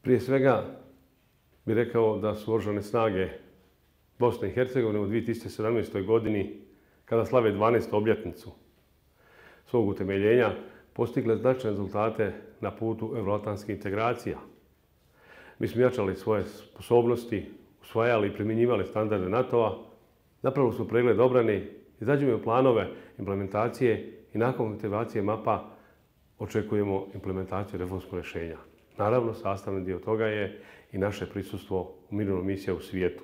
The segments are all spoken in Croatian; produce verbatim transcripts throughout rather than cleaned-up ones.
Prije svega bih rekao da su Oružane snage Bosne i Hercegovine u dvije tisuće sedamnaestoj. godini, kada slave dvanaestu obljetnicu svog utemeljenja, postigle značajne rezultate na putu euroatlantskih integracija. Mi smo jačali svoje sposobnosti, usvajali i primjenjivali standarde NATO-a, napravili smo pregled obrane, izrađujemo planove implementacije i nakon aktivacije mapa očekujemo implementaciju reformskog rješenja. Naravno, sastavni dio toga je i naše prisustvo u mirovnoj misiji u svijetu.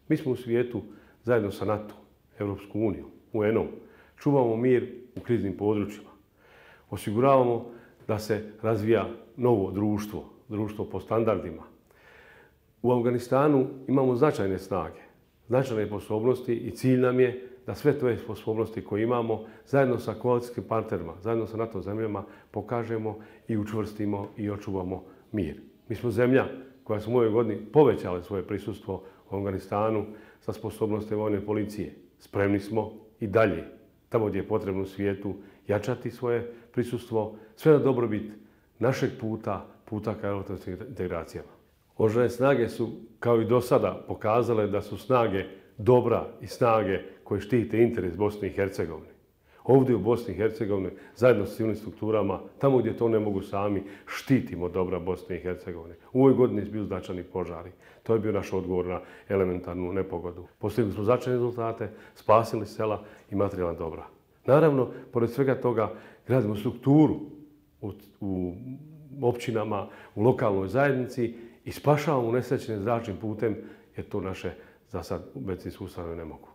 Mi smo u svijetu zajedno sa NATO, Europskom unijom, U N-om, čuvamo mir u kriznim područjima. Osiguravamo da se razvija novo društvo, društvo po standardima. U Afganistanu imamo značajne snage, značajne sposobnosti i cilj nam je da sve te sposobnosti koje imamo zajedno sa koalicijskim partnerima, zajedno sa NATO zemljama pokažemo i učvrstimo i očuvamo mir. Mi smo zemlja koja smo u ovoj godini povećala svoje prisustvo u Afganistanu sa sposobnosti vojne policije. Spremni smo i dalje, tamo gdje je potrebno u svijetu, jačati svoje prisustvo, sve na dobrobit našeg puta, puta ka euroatlantskim integracijama. Oružane snage su, kao i do sada, pokazale da su snage dobra i snage koje štite interes Bosne i Hercegovine. Ovdje u Bosni i Hercegovini, zajedno s civilnim strukturama, tamo gdje to ne mogu sami, štitimo dobra Bosne i Hercegovine. U ovoj godini su bili značajni požari. To je bio naš odgovor na elementarnu nepogodu. Postigli smo značajne rezultate, spasili sela i materijalna dobra. Naravno, pored svega toga, gradimo strukturu u, u općinama, u lokalnoj zajednici i spašavamo unesrećene zračnim putem, jer to naše za sad medicinske ustanove ne mogu.